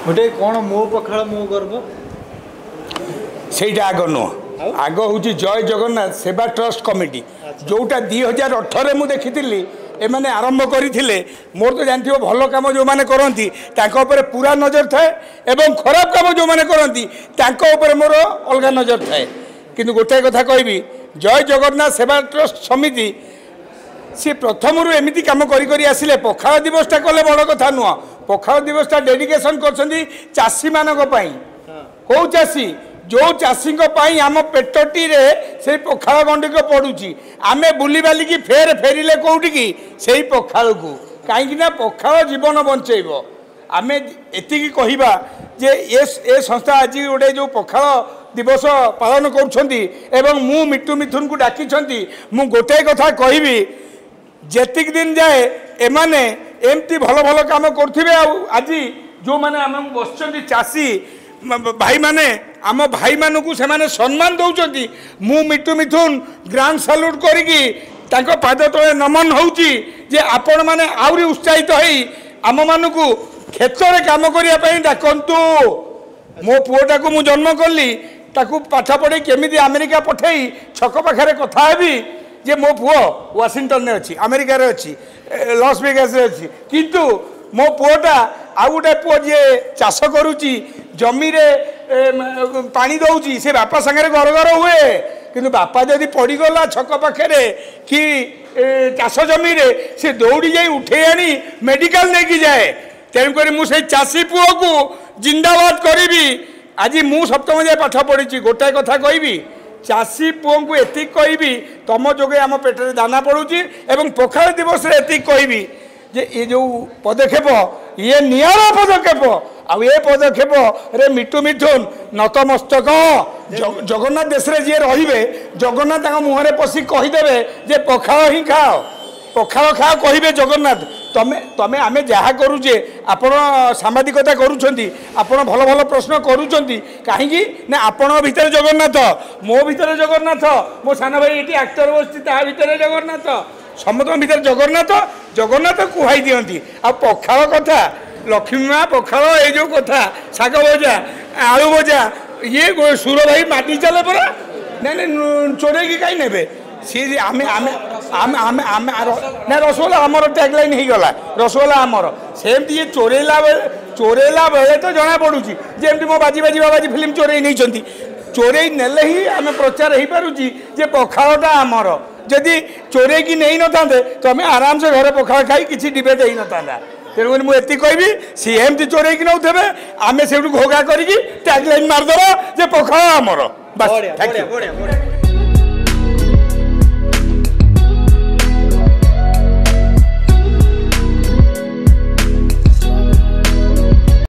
ଗୋଟେ କ'ଣ ମୋ ପଖାଳ ମୋ ଗର୍ବ? ସେଇଟା ଆଗ ନୁହଁ, ଆଗ ହେଉଛି ଜୟ ଜଗନ୍ନାଥ ସେବା ଟ୍ରଷ୍ଟ କମିଟି, ଯେଉଁଟା 2018ରେ ମୁଁ ଦେଖିଥିଲି ଏମାନେ ଆରମ୍ଭ କରିଥିଲେ। ମୋର ତ ଜାଣିଥିବ, ଭଲ କାମ ଯେଉଁମାନେ କରନ୍ତି ତାଙ୍କ ଉପରେ ପୁରା ନଜର ଥାଏ ଏବଂ ଖରାପ କାମ ଯେଉଁମାନେ କରନ୍ତି ତାଙ୍କ ଉପରେ ମୋର ଅଲଗା ନଜର ଥାଏ। କିନ୍ତୁ ଗୋଟାଏ କଥା କହିବି, ଜୟ ଜଗନ୍ନାଥ ସେବା ଟ୍ରଷ୍ଟ ସମିତି ସିଏ ପ୍ରଥମରୁ ଏମିତି କାମ କରି କରି ଆସିଲେ। ପଖାଳ ଦିବସଟା କଲେ ବଡ଼ କଥା ନୁହଁ, ପଖାଳ ଦିବସଟା ଡେଡିକେସନ୍ କରିଛନ୍ତି ଚାଷୀମାନଙ୍କ ପାଇଁ। କେଉଁ ଚାଷୀ? ଯେଉଁ ଚାଷୀଙ୍କ ପାଇଁ ଆମ ପେଟଟିରେ ସେଇ ପଖାଳ ଗଣ୍ଡିକ ପଡ଼ୁଛି। ଆମେ ବୁଲିବାଲିକି ଫେର ଫେରିଲେ କେଉଁଠିକି? ସେଇ ପଖାଳକୁ। କାହିଁକି ନା ପଖାଳ ଜୀବନ ବଞ୍ଚେଇବ। ଆମେ ଏତିକି କହିବା ଯେ ଏ ସଂସ୍ଥା ଆଜି ଗୋଟେ ଯେଉଁ ପଖାଳ ଦିବସ ପାଳନ କରୁଛନ୍ତି ଏବଂ ମୁଁ ମିଟୁ ମିଥୁନକୁ ଡାକିଛନ୍ତି, ମୁଁ ଗୋଟାଏ କଥା କହିବି, ଯେତିକି ଦିନ ଯାଏ ଏମାନେ ଏମିତି ଭଲ ଭଲ କାମ କରୁଥିବେ ଆଉ ଆଜି ଯେଉଁମାନେ ଆମକୁ ବସିଛନ୍ତି ଚାଷୀ ଭାଇମାନେ, ଆମ ଭାଇମାନଙ୍କୁ ସେମାନେ ସମ୍ମାନ ଦେଉଛନ୍ତି, ମୁଁ ମିଟୁ ମିଥୁନ ଗ୍ରାଣ୍ଡ ସାଲ୍ୟୁଟ୍ କରିକି ତାଙ୍କ ପାଦ ତଳେ ନମନ ହେଉଛି ଯେ ଆପଣମାନେ ଆହୁରି ଉତ୍ସାହିତ ହେଇ ଆମମାନଙ୍କୁ କ୍ଷେତରେ କାମ କରିବା ପାଇଁ ଡାକନ୍ତୁ। ମୋ ପୁଅଟାକୁ ମୁଁ ଜନ୍ମ କଲି, ତାକୁ ପାଠ ପଢ଼େଇ କେମିତି ଆମେରିକା ପଠେଇ ଛକ ପାଖରେ କଥା ହେବି ଯେ ମୋ ପୁଅ ୱାସିଂଟନରେ ଅଛି, ଆମେରିକାରେ ଅଛି, ଲସ୍ ଭେଗାସରେ ଅଛି, କିନ୍ତୁ ମୋ ପୁଅଟା ଆଉ ଗୋଟେ ପୁଅ ଯିଏ ଚାଷ କରୁଛି, ଜମିରେ ପାଣି ଦେଉଛି, ସେ ବାପା ସାଙ୍ଗରେ ଗର ଗର ହୁଏ। କିନ୍ତୁ ବାପା ଯଦି ପଡ଼ିଗଲା ଛକ ପାଖରେ କି ଚାଷ ଜମିରେ, ସେ ଦୌଡ଼ି ଯାଇ ଉଠେଇ ଆଣି ମେଡ଼ିକାଲ ନେଇକି ଯାଏ। ତେଣୁକରି ମୁଁ ସେଇ ଚାଷୀ ପୁଅକୁ ଜିନ୍ଦାବାଦ କରିବି। ଆଜି ମୁଁ ସପ୍ତମ ଯାଏ ପାଠ ପଢ଼ିଛି। ଗୋଟାଏ କଥା କହିବି, ଚାଷୀ ପୁଅଙ୍କୁ ଏତିକି କହିବି, ତମ ଯୋଗେ ଆମ ପେଟରେ ଦାନା ପଡ଼ୁଛି। ଏବଂ ପଖାଳ ଦିବସରେ ଏତିକି କହିବି ଯେ ଏ ଯେଉଁ ପଦକ୍ଷେପ, ଇଏ ନିଆରା ପଦକ୍ଷେପ। ଆଉ ଏ ପଦକ୍ଷେପରେ ମିଟୁ ମିଥୁନ ନତମସ୍ତକ। ଜଗନ୍ନାଥ ଦେଶରେ ଯିଏ ରହିବେ, ଜଗନ୍ନାଥ ତାଙ୍କ ମୁହଁରେ ପଶି କହିଦେବେ ଯେ ପଖାଳ ହିଁ ଖାଅ, ପଖାଳ ଖାଅ କହିବେ ଜଗନ୍ନାଥ। ତମେ ଆମେ ଯାହା କରୁଛେ, ଆପଣ ସାମ୍ବାଦିକତା କରୁଛନ୍ତି, ଆପଣ ଭଲ ଭଲ ପ୍ରଶ୍ନ କରୁଛନ୍ତି, କାହିଁକି ନା ଆପଣଙ୍କ ଭିତରେ ଜଗନ୍ନାଥ, ମୋ ଭିତରେ ଜଗନ୍ନାଥ, ମୋ ସାନ ଭାଇ ଏଠି ଆକ୍ଟର ବସିଛି ତା ଭିତରେ ଜଗନ୍ନାଥ, ସମସ୍ତଙ୍କ ଭିତରେ ଜଗନ୍ନାଥ। ଜଗନ୍ନାଥ କୁହାଇ ଦିଅନ୍ତି। ଆଉ ପଖାଳ କଥା, ଲକ୍ଷ୍ମୀ ମା ପଖାଳ, ଏଇ ଯେଉଁ କଥା, ଶାଗ ଭଜା, ଆଳୁ ଭଜା, ଇଏ ସୁର ଭାଇ ମାଟି ଚାଲେ ପରା। ନାଇଁ ନାଇଁ, ଚୋରେଇକି କାହିଁ ନେବେ ସିଏ? ଆମେ ଆମେ ଆମେ ଆମେ ଆମେ ନା, ରସଗୋଲା ଆମର ଟ୍ୟାଗ୍ ଲାଇନ୍ ହେଇଗଲା, ରସଗୋଲା ଆମର। ସେମିତି ଇଏ ଚୋରେଇଲା ବେଳେ, ଚୋରେଇଲା ବେଳେ ତ ଜଣା ପଡ଼ୁଛି। ଯେମିତି ମୋ ବାଜି ବାଜି ବାବାଜି ଫିଲ୍ମ ଚୋରେଇ ନେଇଛନ୍ତି, ଚୋରେଇ ନେଲେ ହିଁ ଆମେ ପ୍ରଚାର ହେଇପାରୁଛି ଯେ ପଖାଳଟା ଆମର। ଯଦି ଚୋରେଇକି ନେଇନଥାନ୍ତେ ତ ଆମେ ଆରାମସେ ଘରେ ପଖାଳ ଖାଇ କିଛି ଡିବେଟ୍ ହେଇନଥାନ୍ତା। ତେଣୁକରି ମୁଁ ଏତିକି କହିବି, ସିଏ ଏମିତି ଚୋରେଇକି ନେଉଥିବେ, ଆମେ ସେଇଠୁ ଘୋଗା କରିକି ଟ୍ୟାଗ୍ ଲାଇନ୍ ମାରିଦେବା ଯେ ପଖାଳ ଆମର। ବାସ୍, thank you.